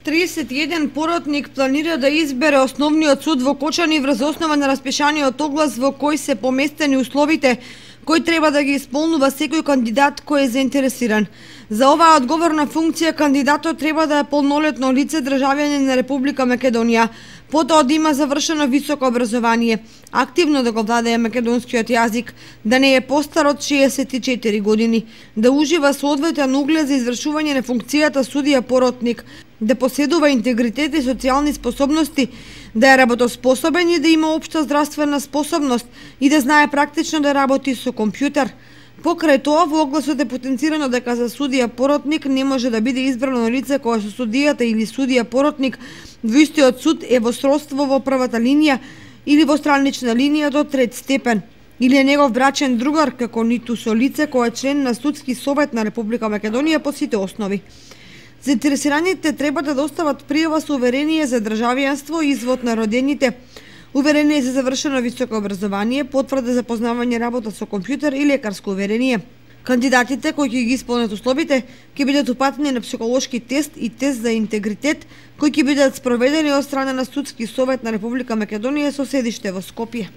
31 поротник планира да избере основниот суд во Кочани врз основа на распишаниот оглас во кој се поместени условите кои треба да ги исполнува секој кандидат кој е заинтересиран. За оваа одговорна функција кандидатот треба да е полнолетно лице, државјанин на Република Македонија, потоа да има завршено високо образование, активно да го владее македонскиот јазик, да не е постар од 64 години, да ужива соодветен углед за извршување на функцијата судија поротник, да поседува интегритет и социјални способности, да е работоспособен и да има општа здравствена способност и да знае практично да работи со компјутер. Покрај тоа, во огласот е потенцирано дека за судија поротник не може да биде избрано лице кое со судијата или судија поротник во истиот суд е во сродство во првата линија или во странична линија до трет степен, или е негов брачен другар, како ниту со лице кое е член на Судски совет на Република Македонија по сите основи. Заинтересираните треба да достават пријава со уверение за државјанство, извод на родените, уверение за завршено високо образование, потврда за познавање работа со компјутер и лекарско уверение. Кандидатите кои ќе ги исполнат условите ќе бидат упатени на психолошки тест и тест за интегритет кои ќе бидат спроведени од страна на Судски совет на Република Македонија со седиште во Скопје.